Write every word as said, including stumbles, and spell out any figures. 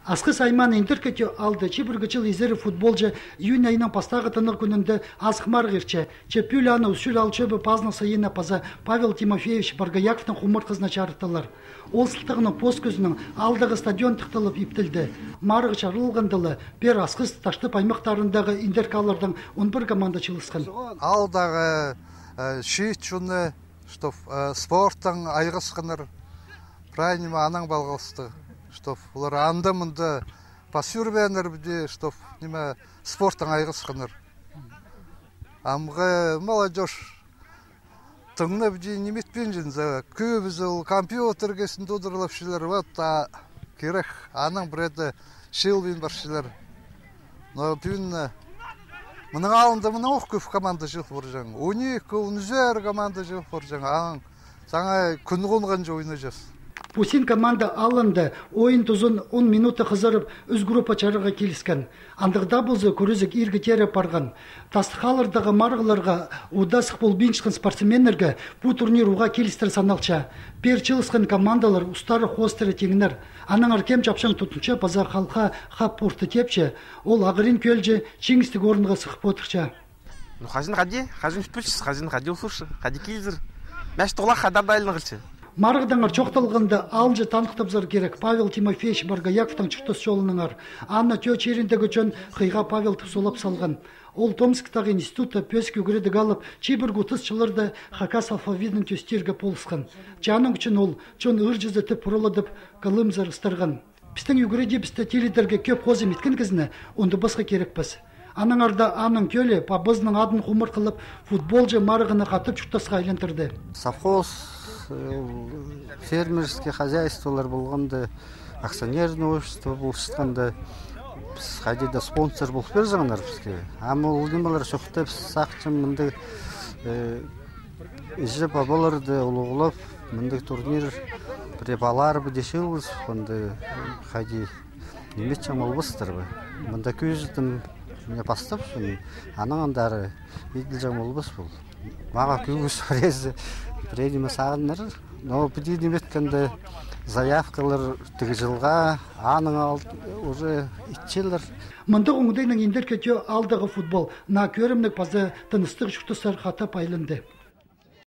Асхыс аймааның Индіркі Тӧӧ аалда чибіргі чыл изері футболҷы июнь айының пастағы тынағ кӱнінде азых марығ иртче. Че пӱӱл аны Усть-Чуль аал чӧбі пазының сыйыны паза Павел Тимофеевич Боргояковтың хумартхызына чарыттылар. Ол сылтағынаң пос кӱзінең аалдағы стадион тыхталып иптелді. Марығ чарылғанда ла пеер Асхыс, Таштып аймахтарындағы Индіркі ааллардаң он пір команда чыылысхан. Аалдағы, э, чиит чонны, чтоб, э, спорттаң айғасханнар, прай ниме анаң палғалыстығ, чтоб олар анда-мында пас ӱрбееннер піди, чтоб ниме спорттаң айғасханнар. Амғы молодёжь тың на піди ниме итпинче, за, кӧбізі ол компьютерге син тудырлапчалар, вот, а кирек, анаң пірееде чыылбин парчалар. Но пӱӱн, э, мының алнында мынаң ох кӧп команда чыыл парҷаң. Он ікі, он ӱзер команда чыыл парҷаң. Анаң саңай кӱн хонғанҷа ойнаҷаң. Пу син команда алнында ойын тузын он минута хызырып, ӱс группа чарарға киліскен. Андағ даа полза, кӱрезіг иргі теере парған. Тастых ааллардағы марығларға удаа сых полбинчатхан спортсменнерге пу турнир уғаа килістіре саналча. Пеер чыылысхан командалар устары хоостыра тиңнер. Аннаңар кем чапчаң тудынча паза халха хап орта тепче, ол ағырин кӧлҷі чиңістіг орынға сых потырча. Ну, хаҷан хайди, хаҷан пілчес, хаҷан хайди ол сурча, хайди килзер. Мин тоғлах хайдар даа айланғалча. Марығдаңар чоохталғанда, алынҷа таныхтабызар кирек Павел Тимофеевич Боргояковтың чуртас чолынаңар. Аны Тӧӧ чиріндегі чон хыйға Павел тіп сулап салған. Ол Томсктағы институтта пӧзік ӱгредіг алып, чибіргі отыс чылларда хакас алфавитін тӧстирге полысхан. Че аның ӱчӱн ол чон ыырҷызы тіп пурулладып, кылымзар ыстырған. Пістің ӱгредібісті тилідерге кӧп хозым иткен кізіні ундубасха кирекпес. Аннаңар даа аның кӧлі пабазының адын хумартхылап, футболҷы марығны хатап чуртасха айландырды. Совхоз, э, фермерский хозяйстволар полғанда, акционерное общество полысханда, піс хайди даа спонсор полып пирҷеңнер піске. Ам ол нимелер чох тіп, піс сағынчам, мындағ, э, іҷе-пабаларды улуғлап, мындағ турнир пірее палалар піди чыылыс, мында хайди ниме итчең полбастар ба. Мында кӧзідім, мына, пастап чон, анаң андары иділҷең полбас пол. Мағаа кӧзіт пірезі, пірее ниме сағыннар. Но піди ниме иткенде, заявкалар тігі чылға, аның алт уже итчелер. Мындағ оңдайнаң Индіркі Тӧӧ аалдағы футбол наа кӧрімніг паза тыныстығ чуртастар хатап айланды.